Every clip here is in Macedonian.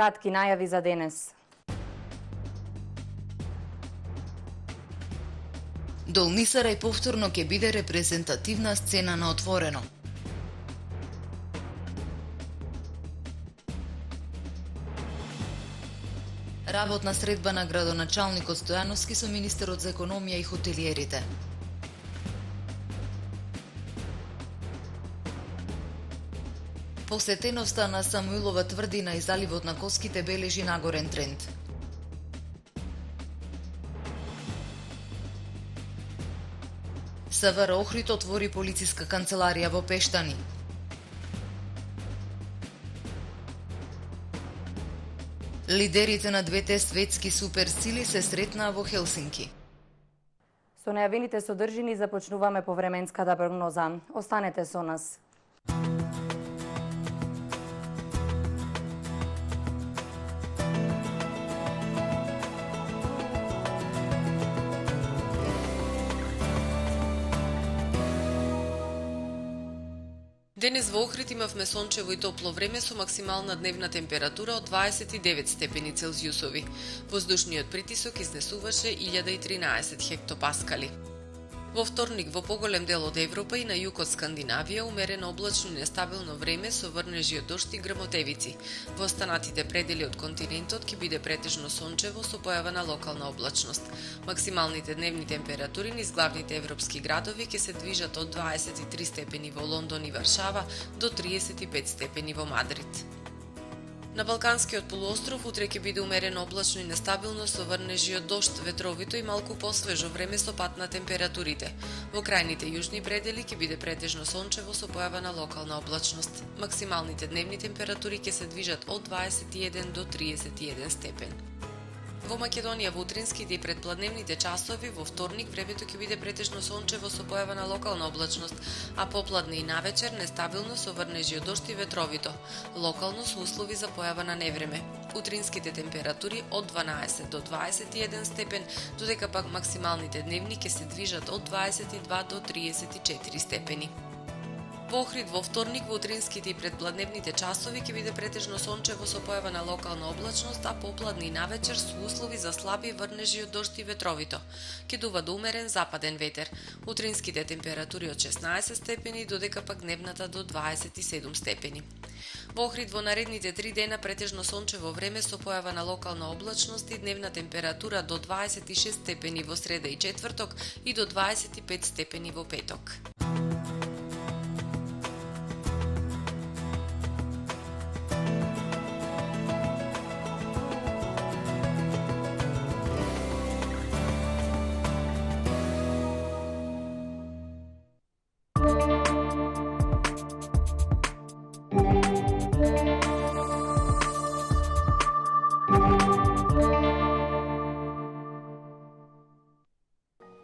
кратки најави за денес. Долни Сарај повторно ќе биде репрезентативна сцена на отворено. Работна средба на градоначалникот Стојановски со министерот за економија и хотелиерите. Посетеноста на Самуилова тврдина и заливот на Коските бележи нагорен тренд. СВР Охрид отвори полициска канцеларија во Пештани. Лидерите на двете светски суперсили се сретнаа во Хелсинки. Со најавените содржини започнуваме повременската прогноза. Останете со нас. Денес во Охрид имавме сончево и топло време со максимална дневна температура од 29 степени Целзиусови. Воздушниот притисок изнесуваше 1013 хектопаскали. Во вторник во поголем дел од Европа и на југ од Скандинавија умерено облачно и нестабилно време со врнежи од дожд и грмотевици. Во останатите предели од континентот ќе биде претежно сончево со појава на локална облачност. Максималните дневни температури низ главните европски градови ќе се движат од 23 степени во Лондон и Варшава до 35 степени во Мадрид. На Балканскиот полуостров утре ќе биде умерено облачно и нестабилно со врнежи од дожд, ветровито и малку посвежо време со пад на температурите. Во крајните јужни предели ќе биде претежно сончево со појава на локална облачност. Максималните дневни температури ќе се движат од 21 до 31 степен. Во Македонија во утринските и предпладневните часови во вторник времето ќе биде претежно сончево со појава на локална облачност, а попладне и навечер нестабилно со врнежи од дожд и ветровито, локално со услови за појава на невреме. Утринските температури од 12 до 21 степен, додека пак максималните дневни ќе се движат од 22 до 34 степени. Во Охрид во вторник во утринските и предпладневните часови ќе биде претежно сончево со појава на локална облачност, а попладне и навечер со услови за слаби врнежи од дожд и ветровито. Ќе дува до умерен западен ветер. Утринските температури од 16 степени, додека пак дневната до 27 степени. Во Охрид во наредните 3 дена претежно сончево време со појава на локална облачност и дневна температура до 26 степени во среда и четврток и до 25 степени во петок.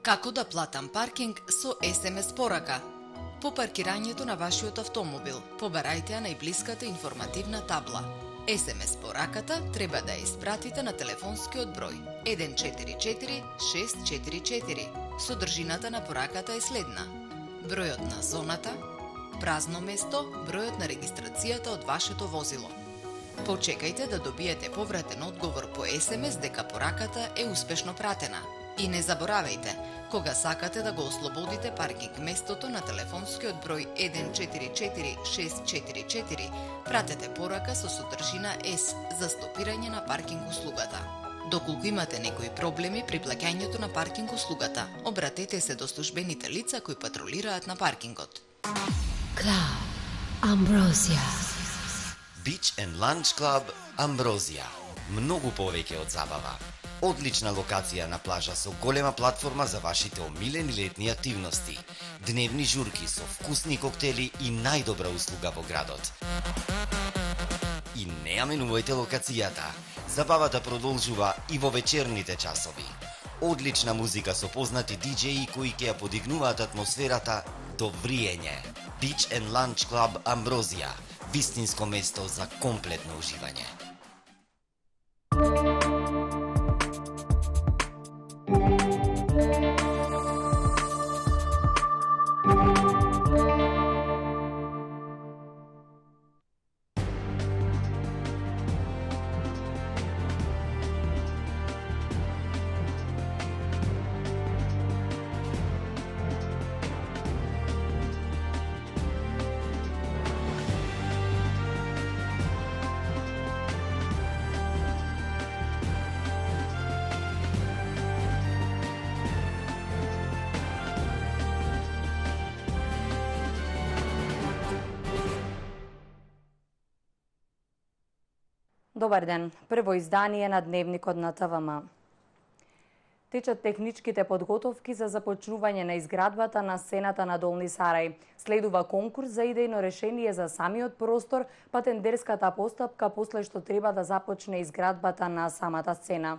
Како да платам паркинг со SMS порака? По паркирањето на вашиот автомобил, побарајте ја најблиската информативна табла. SMS пораката треба да ја испратите на телефонскиот број 144644. Содржината на пораката е следна: бројот на зоната, празно место, бројот на регистрацијата од вашето возило. Почекајте да добиете повратен одговор по SMS дека пораката е успешно пратена. И не заборавајте, кога сакате да го ослободите паркинг местото на телефонскиот број 144644, пратете порака со содржина S за стопирање на паркинг услугата. Доколку имате некои проблеми при плаќањето на паркинг услугата, обратете се до службените лица кои патролираат на паркингот. Club Ambrosia. Beach and Lunch Club Ambrosia. Многу повеќе од забава. Одлична локација на плажа со голема платформа за вашите омилени летни активности. Дневни журки со вкусни коктели и најдобра услуга во градот. И не ја менувајте локацијата. Забавата продолжува и во вечерните часови. Одлична музика со познати диџеи кои ќе ја подигнуваат атмосферата до вриење. Beach and Lunch Club Ambrosia. Вистинско место за комплетно уживање. Добар ден. Прво издание на Дневникот на ТВМ. Течат техничките подготовки за започнување на изградбата на сцената на Долни Сарај. Следува конкурс за идејно решение за самиот простор, па тендерската постапка после што треба да започне изградбата на самата сцена.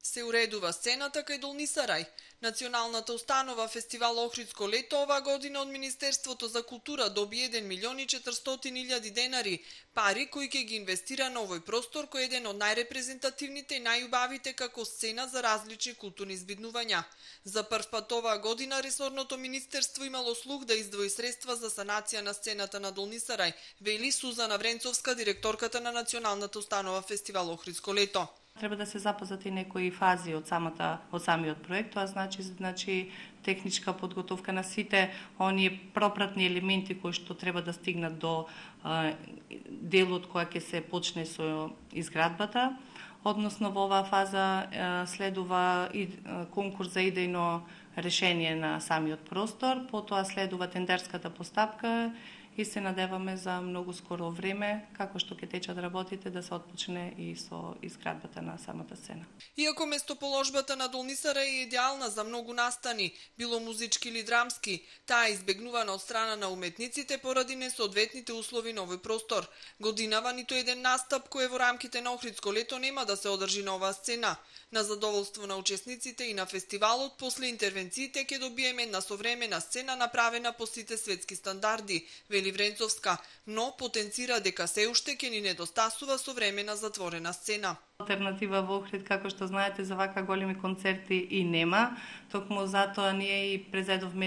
Се уредува сцената кај Долни Сарај. Националната установа Фестивал Охридско лето оваа година од Министерството за култура доби 1.400.000 денари, пари кои ќе ги инвестира на овој простор кој е еден од најрепрезентативните и најубавите како сцена за различни културни збиднувања. За прв пат оваа година ресорното министерство имало слух да издвои средства за санација на сцената на Долни Сарај, вели Сузана Вренцовска, директорката на Националната установа Фестивал Охридско лето. Треба да се запазат и некои фази од самиот проект, тоа значи техничка подготовка на сите оние пропратни елементи кои што треба да стигнат до делот која ќе се почне со изградбата. Односно во оваа фаза следува и конкурс за идејно решение на самиот простор, потоа следува тендерската постапка и се надеваме за многу скоро време, како што ќе течат работите, да се отпочне и со изградбата на самата сцена. Иако местоположбата на Долни Сарај е идеална за многу настани, било музички или драмски, таа е избегнувана од страна на уметниците поради несоодветните услови на овој простор. Годинава ниту еден настап кој е во рамките на Охридско лето нема да се одржи на оваа сцена. На задоволство на учесниците и на фестивалот, после интервенциите ќе добиеме една современа сцена направена по сите светски стандарди, вели Вренцовска, но потенцира дека се уште ќе ни недостасува современа затворена сцена. Алтернатива во Охрид, како што знаете, за вака големи концерти и нема. Токму затоа ние и презедовме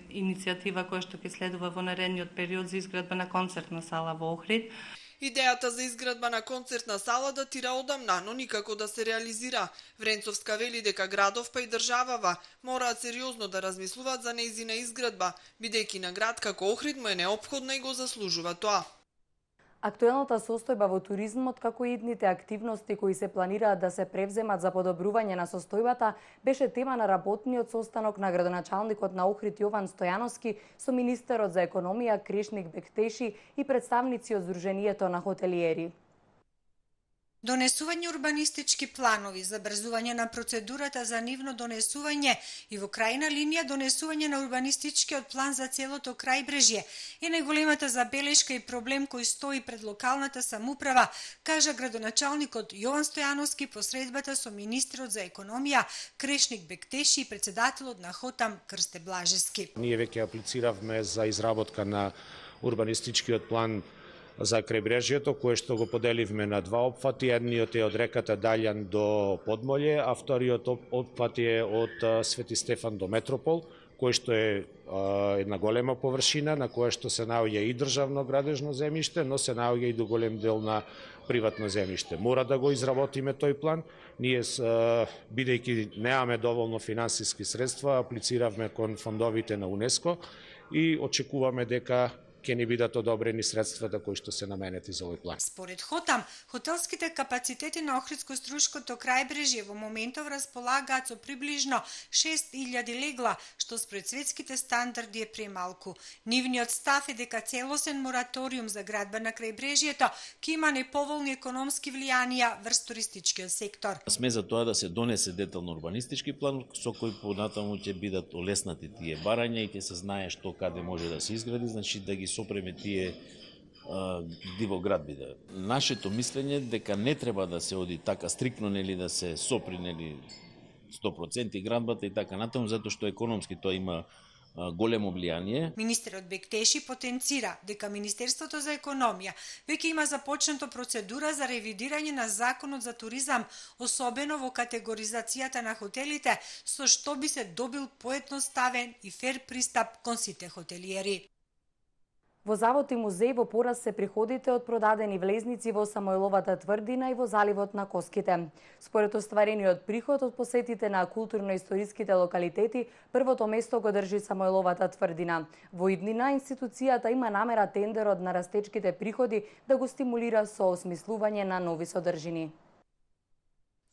иницијатива која што ќе следува во наредниот период за изградба на концертна сала во Охрид. Идејата за изградба на концертна сала датира одамна, но никако да се реализира. Вренцовска вели дека градов па и државава мораат сериозно да размислуваат за нејзина изградба, бидејќи на град како Охрид му е неопходна и го заслужува тоа. Актуелната состојба во туризмот, како и идните активности кои се планираат да се превземат за подобрување на состојбата, беше тема на работниот состанок на градоначалникот на Охрид Јован Стојановски со министерот за економија Крешник Бектеши и представници од Сдруженијето на хотелиери. Донесување урбанистички планови, забрзување на процедурата за нивно донесување и во крајна линија донесување на урбанистичкиот план за целото крајбрежје е најголемата забелешка и проблем кој стои пред локалната самоуправа, кажа градоначалникот Јован Стојановски по средбата со министерот за економија Крешник Бектеши и председателот на Хотам Крсте Блажевски. Ние веќе аплициравме за изработка на урбанистичкиот план за крајбрежјето, кое што го поделивме на два опфати. Едниот е од реката Даљан до Подмолје, а вториот опфат е од Свети Стефан до Метропол, кој што е една голема површина на која што се наоѓа и државно градежно земјиште, но се наоѓа и до голем дел на приватно земјиште. Мора да го изработиме тој план. Ние, бидејќи немаме доволно финансиски средства, аплициравме кон фондовите на УНЕСКО и очекуваме дека ќе ни бидат одобрени средствата кои што се наменети за овој план. Според Хотам, хотелските капацитети на Охридско-Струшкото крајбрежје во моментов располагаат со приближно 6000 легла, што според светските стандарди е премалку. Нивниот став е дека целосен мораториум за градба на крајбрежјето ќе има неповолни економски влијанија врз туристичкиот сектор. Сме за тоа да се донесе детално урбанистички план со кој понатаму ќе бидат олеснати тие барања и ќе се знае што каде може да се изгради, значи да ги сопреме тие диво градби. Нашето мислење дека не треба да се оди така стрикно, нели да се сопри 100% градбата и така натаму, затоа што економски тоа има големо влијание. Министерот Бектеши потенцира дека Министерството за економија веќе има започнато процедура за ревидирање на законот за туризам, особено во категоризацијата на хотелите, со што би се добил поедноставен и фер пристап кон сите хотелиери. Во завод и музеј во пораст се приходите од продадени влезници во Самојловата тврдина и во заливот на Коските. Според остварениот приход од посетите на културно-историските локалитети, првото место го држи Самојловата тврдина. Во иднина институцијата има намера тендерот на растечките приходи да го стимулира со осмислување на нови содржини.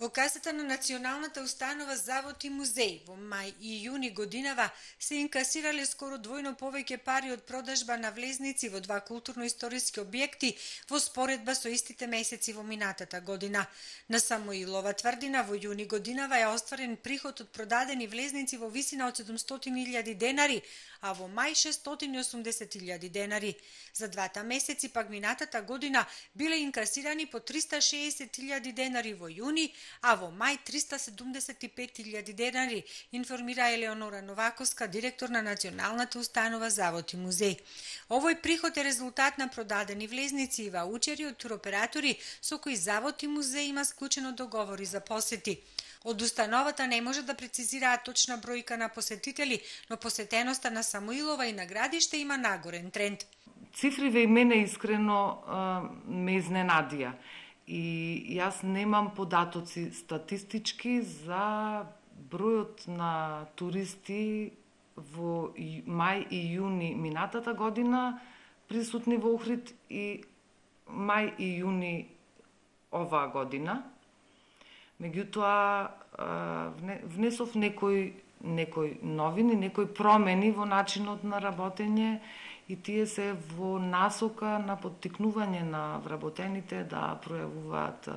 Во касата на Националната установа Завод и музеј во мај и јуни годинава се инкасирале скоро двојно повеќе пари од продажба на влезници во два културно-историски објекти во споредба со истите месеци во минатата година. На Самуилова тврдина во јуни годинава е остварен приход од продадени влезници во висина од 700.000 денари, а во мај 680.000 денари. За двата месеци пак минатата година биле инкасирани по 360.000 денари во јуни, а во мај 375.000 денари, информира Елеонора Новаковска, директор на Националната установа Завод и музеј. Овој приход е резултат на продадени влезници и ваучери од туроператори со кои Завод и музеј има склучено договори за посети. Од установата не може да прецизираат точна бројка на посетители, но посетеноста на Самуилова и на Градиште има нагорен тренд. Цифриве и мене искрено ме изненадија. И јас немам податоци статистички за бројот на туристи во мај и јуни минатата година присутни во Охрид и мај и јуни оваа година. Меѓутоа, внесов некои новини, некои промени во начинот на работење и тие се во насока на поттикнување на вработените да пројавуваат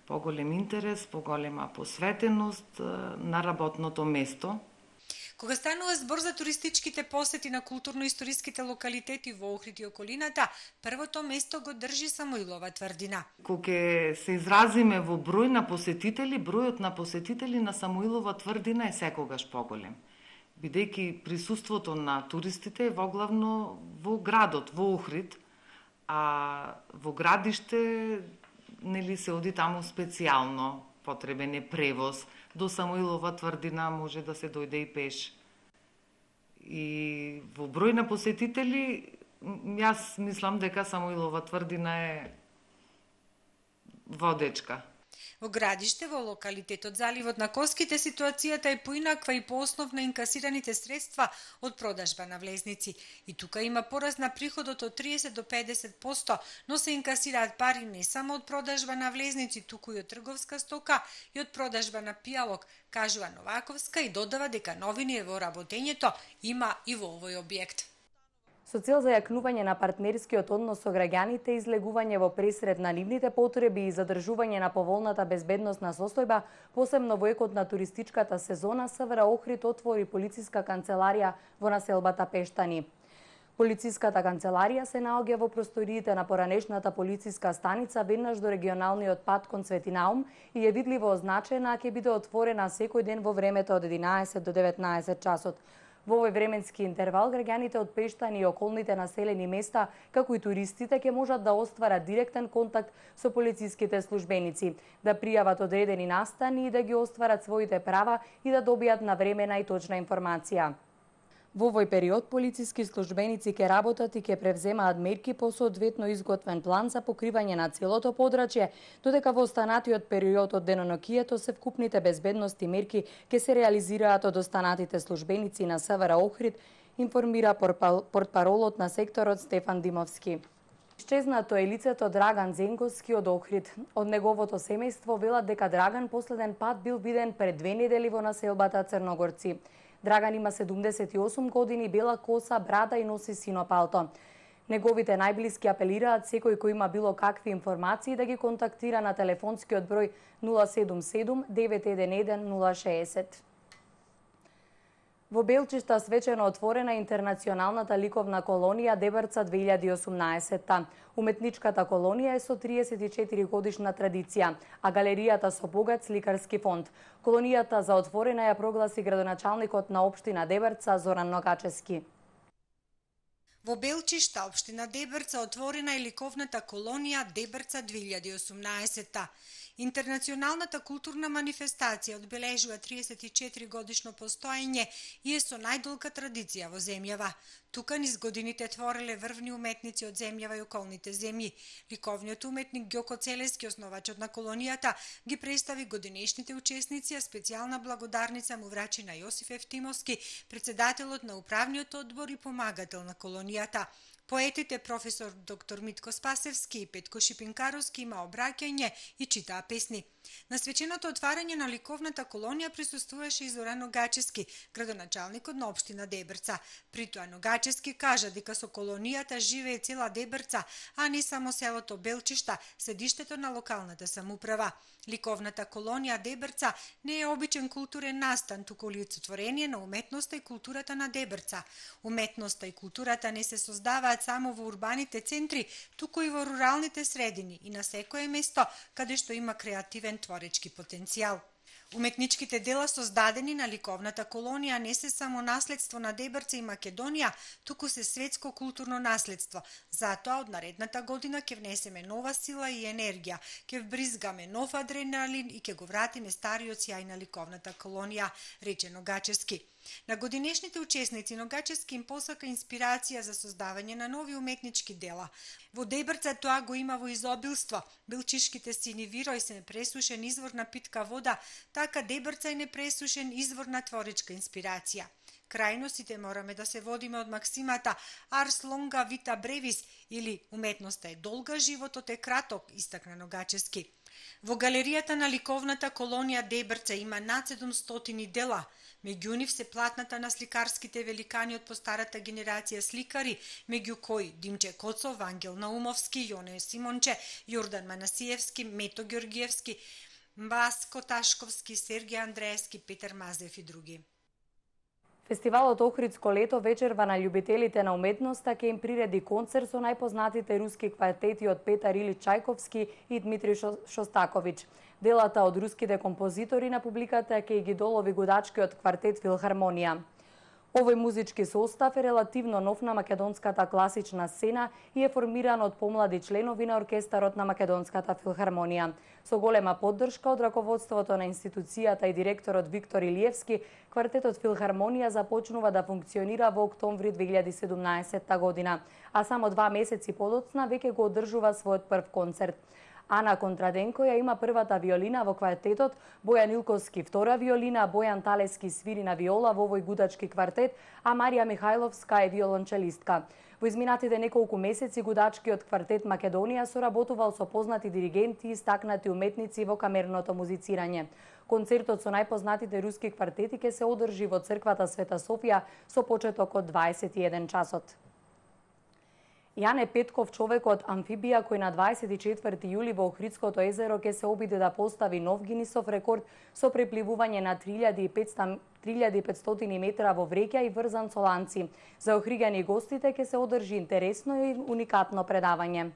поголем интерес, поголема посветеност на работното место. Кога станува збор за туристичките посети на културно-историските локалитети во Охрид и околината, првото место го држи Самуилова тврдина. Кога се изразиме во број на посетители, бројот на посетители на Самуилова тврдина е секогаш поголем, бидејќи присуството на туристите е воглавно во градот, во Охрид, а во Градиште нели се оди таму специјално, потребен е превоз. До Самуилова тврдина може да се дојде и пеш. И во број на посетители, јас мислам дека Самуилова тврдина е водечка. Во Градиште, во локалитетот Заливот на Коските, ситуацијата е поинаква и по основ на инкасираните средства од продажба на влезници. И тука има пораст на приходот од 30 до 50%, но се инкасираат пари не само од продажба на влезници, туку и од трговска стока и од продажба на пијалок, кажува Новаковска и додава дека новини во работењето има и во овој објект. Со цел за јакнување на партнерскиот однос со граѓаните, излегување во пресред на нивните потреби и задржување на поволната безбедносна состојба, посебно во екот на туристичката сезона, СВР Охрид отвори полициска канцеларија во населбата Пештани. Полициската канцеларија се наоѓа во просториите на поранешната полициска станица веднаш до регионалниот пат кон Светинаум и е видливо означена, ќе биде отворена секој ден во времето од 11 до 19 часот. Во овој временски интервал, граѓаните од Пештани и околните населени места, како и туристите, ќе можат да остварат директен контакт со полициските службеници, да пријават одредени настани и да ги остварат своите права и да добијат навремена и точна информација. Во овој период, полициски службеници ќе работат и ќе превземаат мерки по соодветно изготвен план за покривање на целото подрачје, додека во останатиот период од денонокието се вкупните безбедности мерки ќе се реализираат од останатите службеници на СВР Охрид, информира портпаролот на секторот Стефан Димовски. Исчезнато е лицето Драган Зенковски од Охрид. Од неговото семејство велат дека Драган последен пат бил виден пред 2 недели во населбата Црногорци. Драган има 78 години, бела коса, брада и носи сино палто. Неговите најблиски апелираат секој кој има било какви информации да ги контактира на телефонскиот број 077 911 060. Во Белчишта свечено отворена интернационалната ликовна колонија Дебрца 2018. Уметничката колонија е со 34 годишна традиција, а галеријата со богат сликарски фонд. Колонијата за отворена ја прогласи градоначалникот на општина Дебрца Зоран Ногачевски. Во Белчишта, општина Дебрца, отворена е ликовната колонија Дебрца 2018. Интернационалната културна манифестација одбележува 34 годишно постоење и е со најдолга традиција во земјава. Тука низ годините твореле врвни уметници од земјава и околните земји. Ликовниот уметник Ѓоко Целески, основачот на колонијата, ги представи годинешните учесници, а специјална благодарница му врачи на Јосиф Евтимовски, председателот на управниот одбор и помагател на колонијата. Поетите професор доктор Митко Спасевски и Петко Шипинкаровски има обраќање и читаа песни. На свеченото отварање на ликовната колонија присуствуваше и Зоран Ногачевски, градоначалникот на општина Дебрца. При тоа Ногачевски кажа дека со колонијата живее цела Дебрца, а не само селото Белчишта, седиштето на локалната самоуправа. Ликовната колонија Дебрца не е обичен културен настан, туку олицетворение на уметноста и културата на Дебрца. Уметноста и културата не се создаваат само во урбаните центри, туку и во руралните средини и на секое место каде што има креативен творечки потенцијал. Уметничките дела создадени на ликовната колонија не се само наследство на Дебрца и Македонија, туку се светско културно наследство. Затоа од наредната година ќе внесеме нова сила и енергија, ќе вбризгаме нов адреналин и ќе го вратиме стариот сјај на ликовната колонија, рече Ногачевски. На годинешните учесници Ногачевски им посака инспирација за создавање на нови уметнички дела. Во Дебрца тоа го има во изобилство. Белчишките сини Вирој се непресушен извор на питка вода, така Дебрца е непресушен извор на творечка инспирација. Крајно сите мораме да се водиме од максимата Ars longa vita brevis или уметноста е долга, животот е краток, истакна Ногачевски. Во галеријата на ликовната колонија Дебрца има над 700 дела. Меѓу нив се платната на сликарските великани од постарата генерација сликари, меѓу кои Димче Коцов, Ангел Наумовски, Јоне Симонче, Јордан Манасиевски, Мето Ѓоргиевски, Баско Ташковски, Сергеј Андреевски, Петар Мазев и други. Фестивалот Охридско лето вечерва на љубителите на уметноста ќе им приреди концерт со најпознатите руски квартети од Петар Илич Чајковски и Дмитрий Шостакович. Делата од руските композитори на публиката ќе ги долови гудачкиот квартет Филхармонија. Овој музички состав е релативно нов на македонската класична сцена и е формиран од помлади членови на оркестарот на Македонската филхармонија. Со голема поддршка од раководството на институцијата и директорот Виктор Илиевски, квартетот Филхармонија започнува да функционира во октомври 2017 година, а само 2 месеци подоцна веќе го одржува својот прв концерт. Ана Контраденко ја има првата виолина во квартетот, Бојан Илковски втора виолина, Бојан Талески свири на виола во овој гудачки квартет, а Марија Михајловска е виолончелистка. Во изминатите неколку месеци гудачкиот квартет Македонија соработувал со познати диригенти и истакнати уметници во камерното музицирање. Концертот со најпознатите руски квартети ќе се одржи во црквата Света Софија со почеток од 21 часот. Јане Петков, човекот амфибија кој на 24 јули во Охридското езеро ќе се обиде да постави нов Гинисов рекорд со препливување на 3500 метра во вреќа и врзан со ланци. За охригани гостите ќе се одржи интересно и уникатно предавање.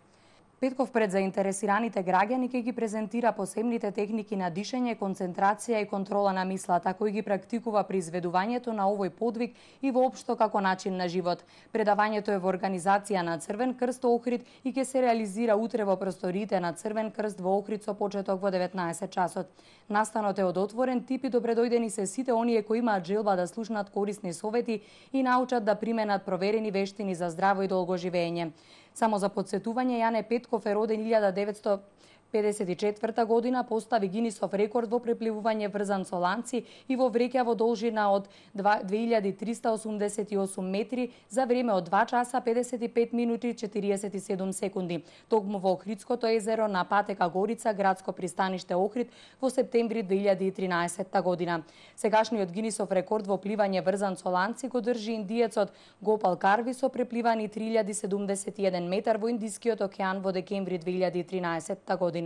Петков пред заинтересираните граѓани ќе ги презентира посебните техники на дишење, концентрација и контрола на мислата, кои ги практикува при изведувањето на овој подвиг и воопшто како начин на живот. Предавањето е во организација на Црвен крст Охрид и ќе се реализира утре во просториите на Црвен крст во Охрид со почеток во 19 часот. Настанот е од отворен тип и добредојдени се сите оние кои имаат желба да слушнат корисни совети и научат да применат проверени вештини за здраво и долго живење. Само за подсетување, Јане Петков е роден 1954 година, постави Гинисов рекорд во препливување врзан со ланци и во вреќа во должина од 2388 метри за време од 2 часа 55 минути и 47 секунди. Токму во Охридското езеро на патека Горица, градско пристаниште Охрид во септември 2013 година. Сегашниот Гинисов рекорд во пливање врзан со ланци го држи индиецот Гопал Карви со препливани 3071 метар во Индискиот океан во декември 2013 година.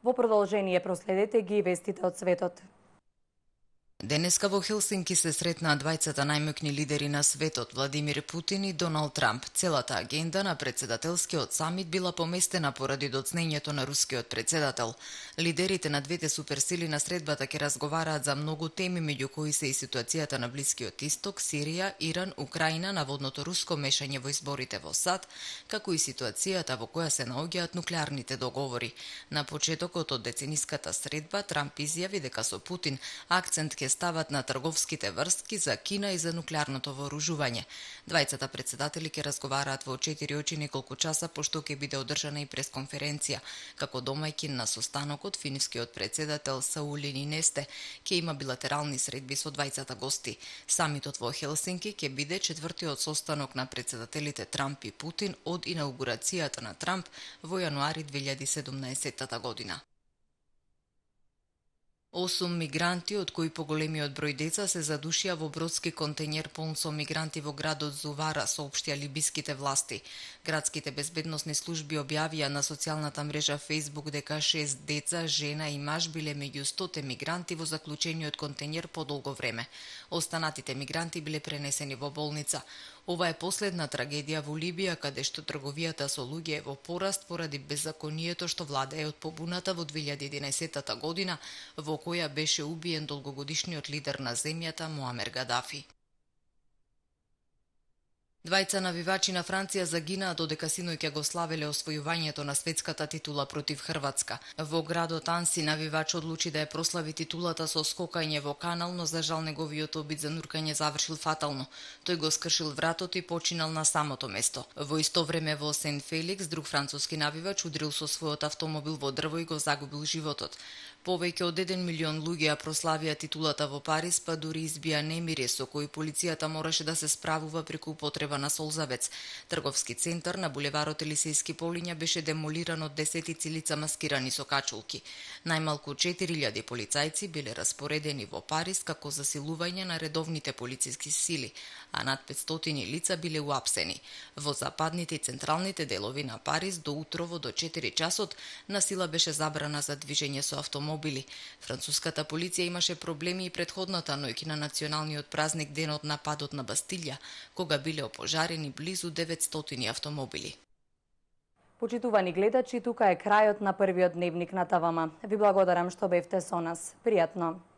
Во продолжение проследете ги вестите од светот. Денеска во Хелсинки се сретнаа двајцата најмоćни лидери на светот, Владимир Путин и Доналд Трамп. Целата агенда на председателскиот самит била поместена поради доцнењето на рускиот председател. Лидерите на двете суперсили на средбата ќе разговараат за многу теми, меѓу кои се и ситуацијата на Блискиот Исток, Сирија, Иран, Украина, наводното руско мешање во изборите во САД, како и ситуацијата во која се наоѓаат нуклеарните договори. На почетокот од децениската средба Трамп изјави дека со Путин акцент ќе стават на трговските врски за Кина и за нуклеарното вооружување. Двајцата председатели ќе разговараат во 4 очи неколку часа, пошто ќе биде одржана и пресконференција. Како домајкин на состанокот, финскиот председател Саули Нинесте ќе има билатерални средби со двајцата гости. Самитот во Хелсинки ќе биде четвртиот состанок на председателите Трамп и Путин од инаугурацијата на Трамп во јануари 2017 година. 8 мигранти, од кои поголемиот број деца, се задушија во бродски контејнер полн со мигранти во градот Зувара, соопштија либиските власти. Градските безбедносни служби објавија на социјалната мрежа Facebook дека 6 деца, жена и маж биле меѓу 100 мигранти во заклучениот контејнер подолго време. Останатите мигранти биле пренесени во болница. Ова е последна трагедија во Либија, каде што трговијата со луѓе е во пораст поради беззаконието што владее од побуната во 2011 година, во која беше убиен долгогодишниот лидер на земјата Муамер Гадафи. Двајца навивачи на Франција загинаа додека синој ќе го славеле освојувањето на светската титула против Хрватска. Во градот Анси навивач одлучи да ја прослави титулата со скокање во канал, но за жал неговиот обид за нуркање завршил фатално. Тој го скршил вратот и починал на самото место. Во исто време во Сен Феликс друг француски навивач удрил со својот автомобил во дрво и го загубил животот. Повеќе од 1 милион луѓе ја прославија титулата во Париз, па дури избија немири со кои полицијата мораше да се справува преку употреба на солзавец. Трговски центар на булеварот Елисејски полиња беше демолиран од десетици лица маскирани со качулки. Најмалку 4000 полицајци биле распоредени во Париз како засилување на редовните полициски сили, а над 500 лица биле уапсени. Во западните и централните делови на Париз до утрово до 4 часот насила беше забрана за движење со автомобили. Француската полиција имаше проблеми и претходната ноќ на националниот празник денот на падот на Бастилја, кога биле опожарени близу 900 автомобили. Почитувани гледачи, тука е крајот на првиот дневник на ТВМ. Ви благодарам што бевте со нас. Пријатно!